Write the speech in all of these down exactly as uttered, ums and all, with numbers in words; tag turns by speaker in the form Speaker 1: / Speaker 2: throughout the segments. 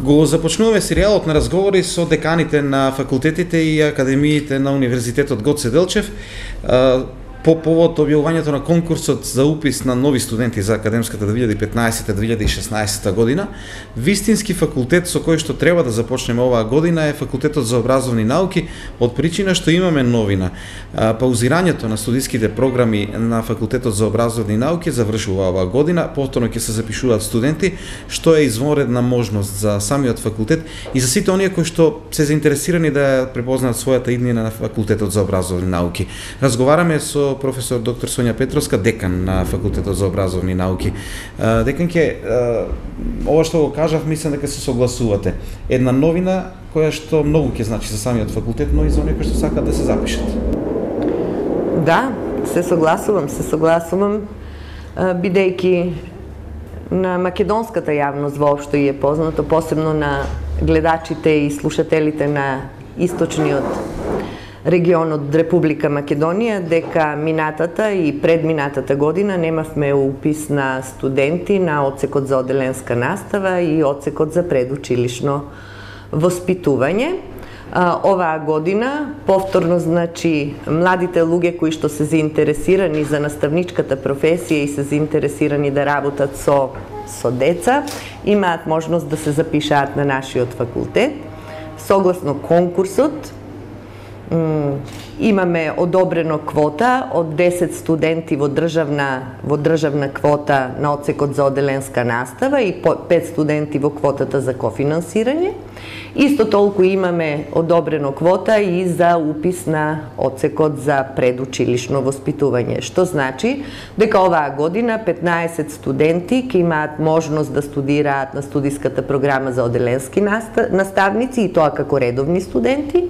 Speaker 1: Го започнуваме серијалот на разговори со деканите на факултетите и академиите на Универзитетот Гоце Делчев по повод објавувањето на конкурсот за упис на нови студенти за академската две илјади и петнаесета - две илјади и шеснаесета година. Вистински факултет со кој што треба да започнеме оваа година е Факултетот за образовни науки, од причина што имаме новина. Паузирањето на студиските програми на Факултетот за образовни науки завршува оваа година, повторно ќе се запишуваат студенти, што е извонредна можност за самиот факултет и за сите оние кои што се заинтересирани да препознаат својата иднина на Факултетот за образовни науки. Разговараме со професор доктор Сонја Петровска, декан на Факултетот за образовни науки. Деканке, ова што го кажав, мислам дека се согласувате. Една новина која што многу ќе значи за самиот факултет, но и за оние кои што сакаат да се запишат.
Speaker 2: Да, се согласувам, се согласувам, бидејќи на македонската јавност воопшто е познато, посебно на гледачите и слушателите на источниот регион од Република Македонија, дека минатата и предминатата година немавме упис на студенти на одсекот за оделенска настава и одсекот за предучилишно воспитување. Оваа година, повторно, значи, младите луѓе кои што се заинтересирани за наставничката професија и се заинтересирани да работат со, со деца, имаат можност да се запишаат на нашиот факултет. Согласно конкурсот, имаме одобрено квота од десет студенти во државна, во државна квота на одсекот за оделенска настава и пет студенти во квотата за кофинансирање. Исто толку имаме одобрено квота и за упис на одсекот за предучилишно воспитување, што значи дека оваа година петнаесет студенти ќе имаат можност да студираат на студиската програма за оделенски наставници и тоа како редовни студенти,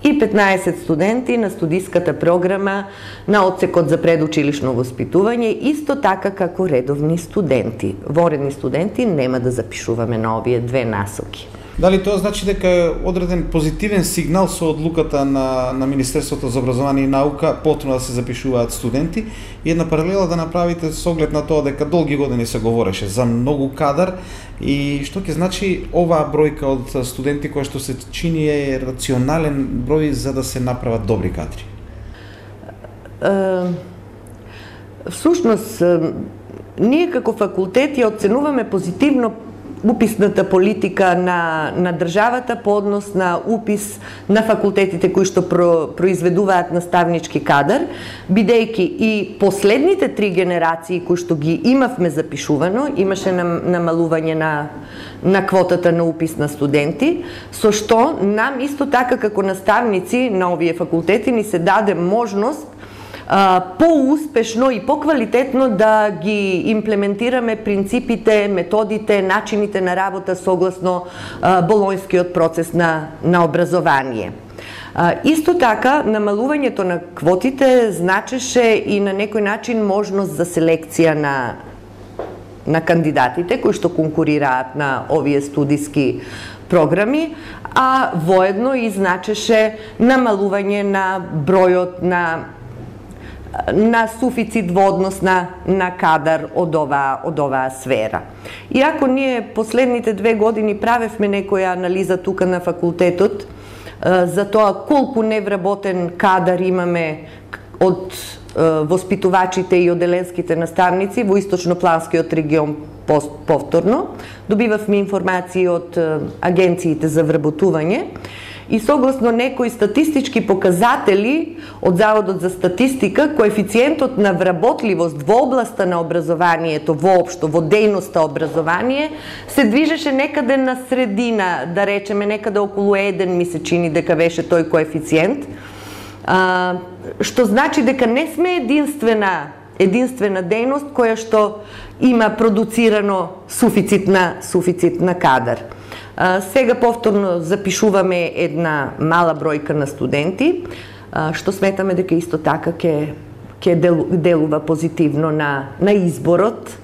Speaker 2: и петнаесет студенти на студиската програма на одсекот за предучилишно воспитување, исто така како редовни студенти. Воредни студенти нема да запишуваме на овие две насоки.
Speaker 1: Дали тоа значи дека е одреден позитивен сигнал со одлуката на, на Министерството за образование и наука потврдно да се запишуваат студенти и една паралела да направите со оглед на тоа дека долги години се говореше за многу кадар и што ќе значи оваа бројка од студенти која што се чини е рационален број за да се направат добри кадри?
Speaker 2: Uh, всушност, uh, ние како факултет ја оценуваме позитивно уписната политика на, на државата по однос на упис на факултетите кои што про, произведуваат наставнички кадар, бидејќи и последните три генерации кои што ги имавме запишувано, имаше намалување на, на квотата на упис на студенти, со што нам исто така како наставници на овие факултети ни се даде можност по-успешно и по-квалитетно да ги имплементираме принципите, методите, начините на работа согласно болонјскиот процес на, на образование. Исто така, намалувањето на квотите значеше и на некој начин можност за селекција на, на кандидатите кои што конкурираат на овие студиски програми, а воедно и значеше намалување на бројот на на суфицит во однос на, на кадар од оваа, од оваа сфера. Иако ние последните две години правевме некоја анализа тука на факултетот за тоа колку невработен кадар имаме од воспитувачите и оделенските наставници во источнопланскиот регион повторно, добивавме информации од агенциите за вработување, и согласно некои статистички показатели од Заводот за статистика, коефициентот на вработливост во областа на образованието воопшто, во дејноста образование, се движеше некаде на средина, да речеме некаде околу еден, ми се чини дека беше тој коефициент, а, што значи дека не сме единствена единствена дејност која што има продуцирано суфицит на, суфицит на кадар. Сега повторно запишуваме една мала бројка на студенти, што сметаме дека исто така ќе ќе делува позитивно на на изборот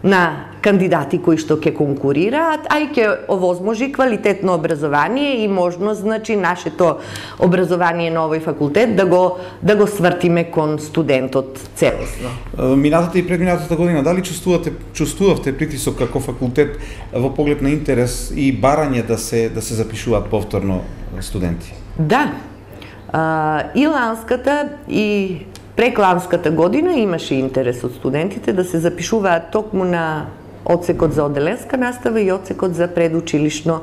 Speaker 2: на кандидати кои што ќе конкурираат, а и ќе овозможи квалитетно образование и можност, значи, нашето образование на овој факултет да го да го свртиме кон студентот целосно.
Speaker 1: Минатата и предминатата година, дали чувствувате чувствувавте притисок како факултет во поглед на интерес и барање да се да се запишуваат повторно студенти?
Speaker 2: Да. А, и ланската и прекланската година имаше интерес од студентите да се запишуваат токму на одсекот за оделенска настава и одсекот за предучилишно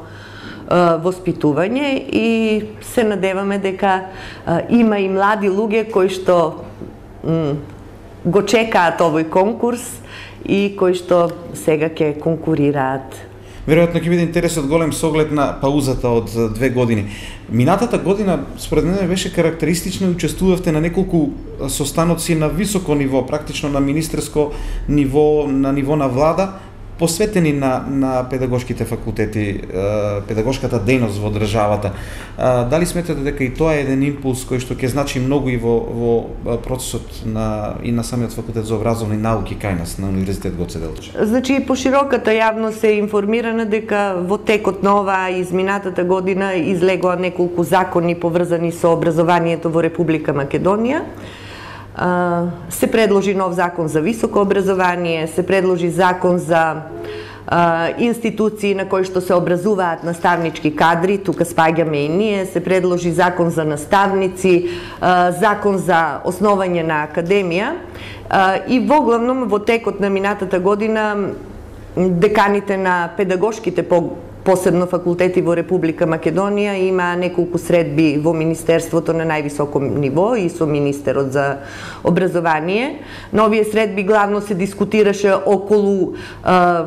Speaker 2: а, воспитување и се надеваме дека а, има и млади луѓе кои што м, го чекаат овој конкурс и кои што сега ќе конкурираат.
Speaker 1: Веројатно ќе биде интересот голем со оглед на паузата од две години. Минатата година, според мене, беше карактеристична и учествувавте на неколку состаноци на високо ниво, практично на министерско ниво, на ниво на влада, посветени на, на педагошките факултети, педагошката дејност во државата. Дали сметате дека и тоа е еден импулс кој што ќе значи многу и во, во процесот на, и на самиот факултет за образовни науки кај нас, на Универзитет Гоце Делчев?
Speaker 2: Значи, пошироката јавност е информирана дека во текот на оваа изминатата година излегоа неколку закони поврзани со образованието во Република Македонија. Се предложи нов закон за високо образование, се предложи закон за а, институции на кои што се образуваат наставнички кадри, тука спаѓаме и ние, се предложи закон за наставници, а, закон за основање на академија а, и во главном во текот на минатата година деканите на педагошките по посебно факултети во Република Македонија има неколку средби во Министерството на највисоко ниво и со министерот за образование. На овие средби главно се дискутираше околу а,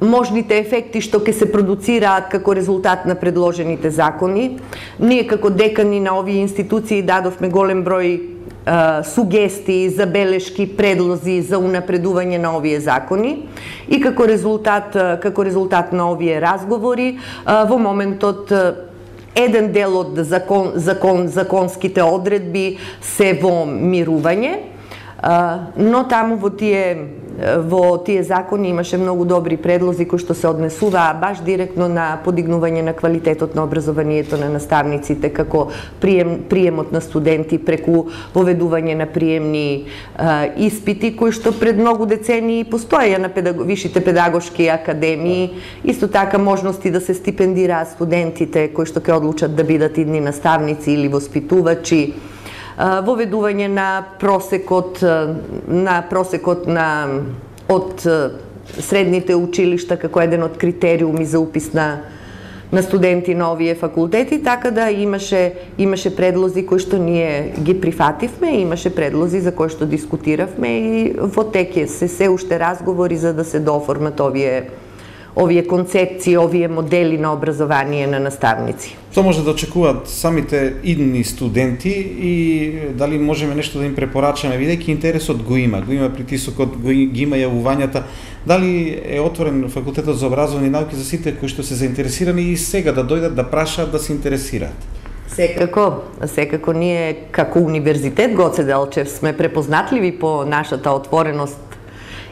Speaker 2: можните ефекти што ќе се продуцираат како резултат на предложените закони. Ние како декани на овие институции дадовме голем број сугестии, забелешки, предлози за унапредување на овие закони и како резултат како резултат на овие разговори во моментот еден дел од закон закон законските одредби се во мирување, но таму во тие во тие закони имаше многу добри предлози кои што се однесуваа баш директно на подигнување на квалитетот на образованието на наставниците, како прием, приемот на студенти преку воведување на приемни а, испити кои што пред многу децении постоеја на педаг... вишите педагошки академии, исто така можности да се стипендираат студентите кои што ќе одлучат да бидат идни наставници или воспитувачи, воведување на просекот на просекот на од средните училишта како еден од критериуми за упис на на студенти на овие факултети, така да имаше имаше предлози кои што ние ги прифативме, имаше предлози за кои што дискутиравме и во тек е се се уште разговори за да се дооформат овие овие концепции, овие модели на образование на наставници.
Speaker 1: Што може да очекуваат самите идни студенти и дали можеме нешто да им препорачаме, бидејќи интересот го има, го има притисокот, го ги има јавувањата, дали е отворен факултетот за образовни науки за сите кои што се заинтересирани и сега да дојдат да прашаат, да се интересираат?
Speaker 2: Секако, секако ние како Универзитет Гоце Делчев сме препознатливи по нашата отвореност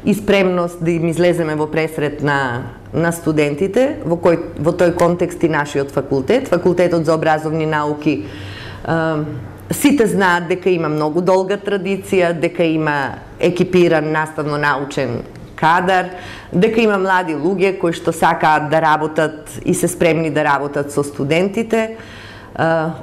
Speaker 2: и спремност да им излеземе во пресрет на на студентите, во кој во тој контекст и нашиот факултет, факултетот за образовни науки. Е, сите знаат дека има многу долга традиција, дека има екипиран наставно-научен кадар, дека има млади луѓе кои што сакаат да работат и се спремни да работат со студентите. Е,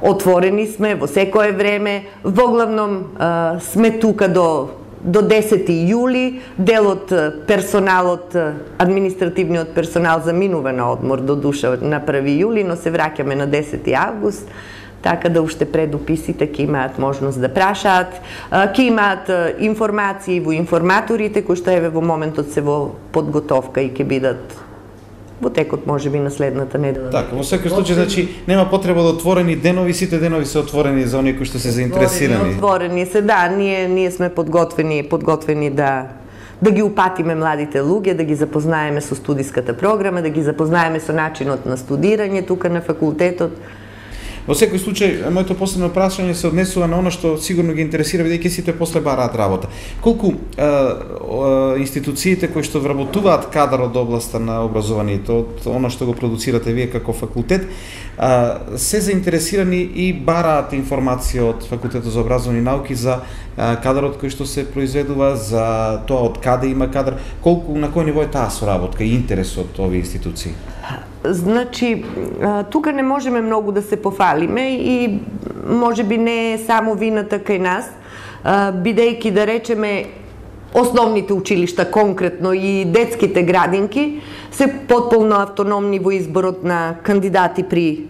Speaker 2: отворени сме во секое време, во главном е, сме тука до до десети јули, дел од персоналот, административниот персонал заминува на одмор до душа на први јули, но се враќаме на десети август, така да уште пред уписите ќе имаат можност да прашаат, ќе имаат информации во информаторите кои што еве во моментот се во подготовка и ќе бидат во текот можеби на следната недела.
Speaker 1: Така, во секој случај, значи нема потреба да отворени денови, сите денови се отворени за оние кои што се заинтересирани.
Speaker 2: Отворени се, да, ние ние сме подготвени, подготвени да да ги упатиме младите луѓе, да ги запознаеме со студиската програма, да ги запознаеме со начинот на студирање тука на факултетот.
Speaker 1: Во секој случај, моето последно прашање се однесува на оно што сигурно ги интересира, бидејќи сите после бараат работа. Колку е, е, институциите кои што вработуваат кадар од областа на образованието, од оно што го продуцирате вие како факултет, е, се заинтересирани и бараат информација од Факултетот за образовни науки за е, кадарот кој што се произведува, за тоа од каде има кадар, колку на кој ниво е таа соработка и интерес од овие институции?
Speaker 2: Значи, тука не можеме многу да се пофалиме и може би не е само вината кај нас, бидејќи да речеме основните училишта конкретно и детските градинки се потполно автономни во изборот на кандидати при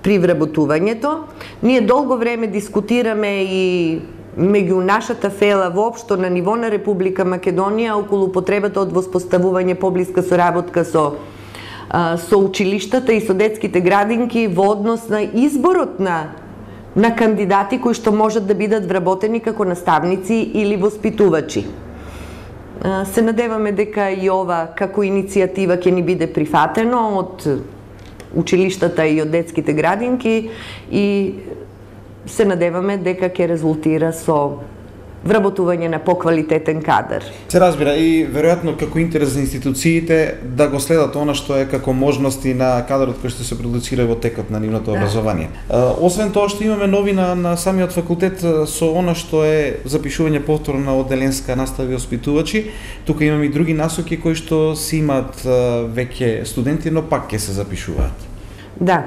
Speaker 2: при вработувањето. Ние долго време дискутираме и меѓу нашата фела воопшто на ниво на Република Македонија околу потребата од воспоставување поблиска соработка со со училиштата и со детските градинки во однос на изборот на на кандидати кои што можат да бидат вработени како наставници или воспитувачи. Се надеваме дека и ова како иницијатива ќе ни биде прифатено од училиштата и од детските градинки и се надеваме дека ќе резултира со вработување на поквалитетен кадар.
Speaker 1: Се разбира и веројатно како интерес за институциите да го следат она што е како можности на кадарот кој што се продуцира во текот на нивното образование. Освен тоа што имаме новина на самиот факултет со она што е запишување повторно на одделенска настава и воспитувачи, тука имаме и други насоки кои што си имаат веќе студенти, но пак ќе се запишуваат.
Speaker 2: Да.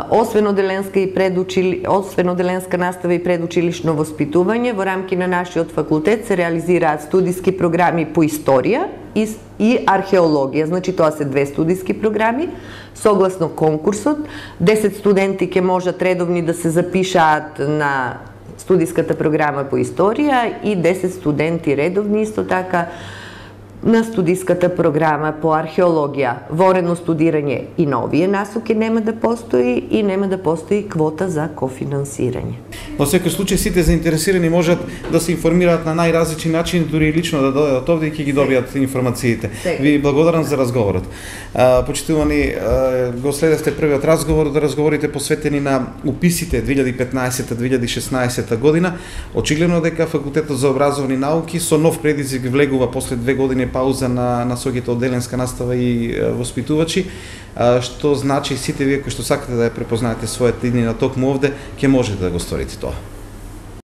Speaker 2: Освен одделенска и предучили... освен одделенска настава и предучилишно воспитување, во рамки на нашиот факултет се реализираат студиски програми по историја и, и археологија. Значи тоа се две студиски програми. Согласно конкурсот, десет студенти ќе можат редовни да се запишаат на студиската програма по историја и десет студенти редовни исто така на студиската програма по археологија. Ворено студирање и на овие насоки нема да постои и нема да постои квота за кофинансирање.
Speaker 1: Во секој случај сите заинтересирани можат да се информираат на најразлични начини, дури и лично да дојдат овде и ќе ги добијат информациите. Ви благодарам за разговорот. Почитувани, го следевте првиот разговор, да разговорите посветени на уписите две илјади и петнаесета две илјади и шеснаесета година. Очигледно дека Факултетот за образовни науки со нов предизвик влегува после две години пауза на насоките одделенска настава и воспитувачи, што значи сите вие кои што сакате да ја препознаете својата иднина токму овде, ќе можете да го сторите тоа.